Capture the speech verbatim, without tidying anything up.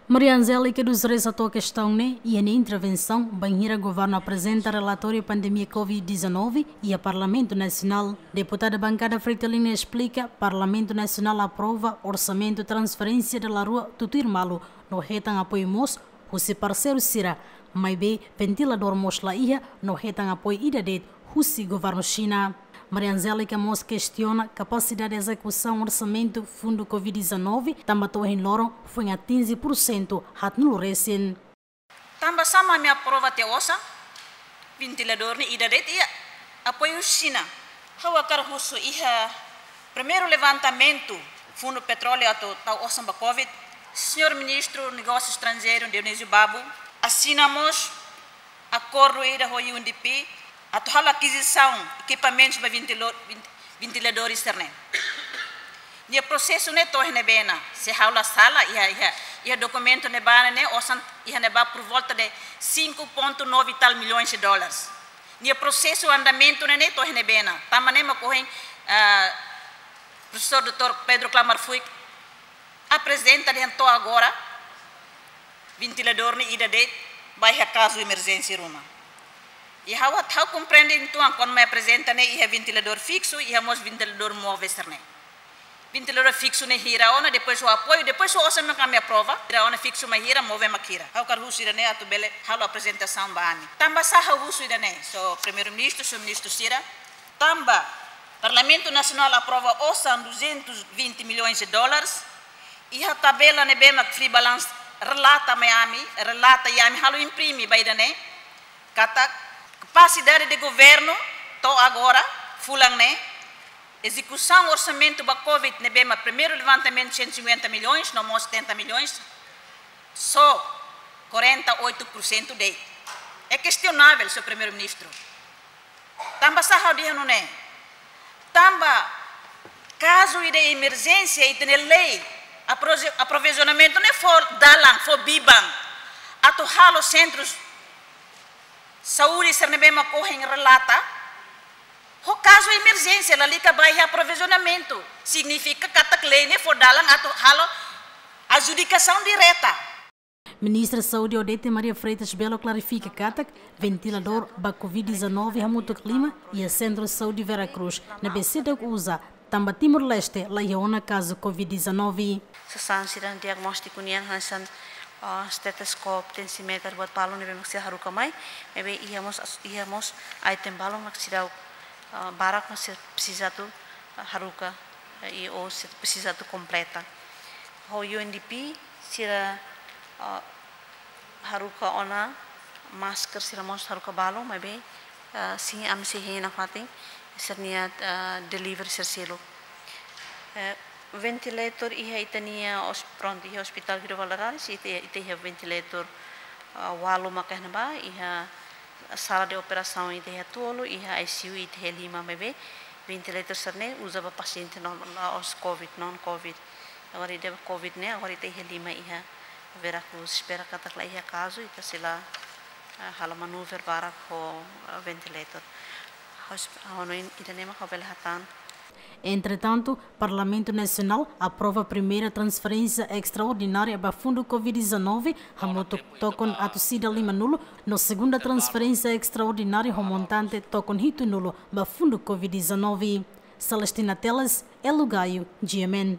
Maria Angélica dos Reis hato'o kestaun ne'e iha nia intervensaun bainhira governu aprezenta relatóriu pandemia covid dezanove iha Parlamentu Nasionál. Deputada bankada Fretilin esplika, Parlamentu Nasionál aprova orsamentu transferénsia dala rua tutuir malu no hetan apoiu mós husi parseiru sira, maibé ventiladór mós la iha no hetan apoiu ida de'it husi governu Xina. Maria Angélica mós kestiona kapasidade ezekusaun orsamentu fundu covid dezanove, tanba to'o ohin loron foin atinje pursentu haatnulu resin. Tanba sá mak ami aprova tiha osan ventiladór ne'e ida de'it iha apoiu Xina? Ha'u hakarak husu, iha primeiru levantamentu fundu petróleu atu tau osan ba covid, señór Ministru Negósiu Estranjeiru Dionísio Babo asina mós akordu ida ho U N D P atu halo akizisaun ekipamentus ba ventilo-, vent-, ventiladór sira-ne'e. Nia prosesu ne'e to'o iha ne'ebé ona, se ha'u la sala, iha, iha, iha dokumentu ne'ebá ne'e, osan iha ne'ebá por volta de cinco ponto nove tal milhões de dólares. Nia prosesu, andamentu ne'e, ne'e to'o iha ne'ebé ona. Tanba ne'e mak ohin, ah, profesór doutór Pedro Klamar Fuik aprezenta dehan to'o agora ventiladór ne'e ida de'it ba iha kazu emerjénsia ruma. I ha'u, ha'u komprende uitoan, kuandu mai aprezenta ne'e iha ventiladór fiksu, iha mós ventiladór móvel sira-ne'e. Ventiladór fiksu ne'e hira ona, depois ho apoiu, depois ho osan mak ami aprova, hira ona fiksu mak hira, móvel mak hira. Ha'u hakarak husu ida-ne'e atu bele halo aprezentasaun ba ami. Tanba sá ha'u husu ida-ne'e, señór Primeiru-Ministru, señór Ministru sira, tanba Parlamentu Nasionál aprova osan duzentos vinte milhões de dólares, iha tabela ne'ebé mak Freebalance relata mai ami, relata iha ami halo imprime ba ida-ne'e, katak kapasidade de governu to'o agora, fulan ne'e, ezekusaun orsamentu ba covid ne'ebé mak primeiru levantamentu cento e cinquenta milhões, no mós setenta milhões, só quarenta e oito por cento de'it. É questionável, señór Primeiru-Ministru. Tanba sá ha'u dehan nune'e? Tanba kazu ida emerjénsia, ita-nia lei aprovi-, aprovizionamentu ne'e fó dalan, fó biban atu halo sentrus saúde sira ne'ebé mak ohin relata ho kazu emerjénsia, lalika ba iha aprovizionamentu. Signifika katak lei ne'e fó dalan atu halo adjudikasaun direta. Ministra Saúde Odete Maria Freitas Belo klarifika katak ventiladór ba covid dezanove hamutuk lima iha Sentru Saúde Vera Cruz ne'ebé seidauk uza, tanba Timor-Leste la iha ona kazu covid dezanove. Sasán sira diagnóstiku nian hanesan, ah, estetoscópiu, tensiméter, buat balu ne'ebé mak sira haruka mai, maibé iha mós as-, iha mós item balu mak seidauk, ah, barak mak sira presiza atu, ah, haruka, eh, i ou sira presiza atu kompleta. Ho U N D P sira, ah, haruka ona masker, sira mós haruka balu, maibé, ah, sin ami sei hein nafatin sira-nia, ah, delivery sira seluk. Eh, ventilator iha ita-nia os-, prontu, iha Hospital Guido Valadares, ita, ita iha ventilator, ah, ualu maka iha ne'ebá, iha sala de operasaun ita iha tolu, iha I C U ita iha lima, maibé ventilator sira-ne'e uza ba pasiente non, la'ós covid, non covid. Agora ida ba covid ne'e, agora ita iha lima iha Vera Cruz, espera katak la iha kazu, ita sei la, ah, halo manuver barak ho, ah, ventilator. Ha'u es-, ha'u hanoin ida-ne'e mak ha'u bele hatán. Entretantu, Parlamentu Nasionál aprova primeira transferénsia estraordinária ba fundu covid dezanove, hamutuk tokon atus ida lima-nulu, no segunda transferénsia estraordinária ho montante tokon hitu-nulu ba fundu covid dezanove. Celestina Teles, Elo Gaio, G M N.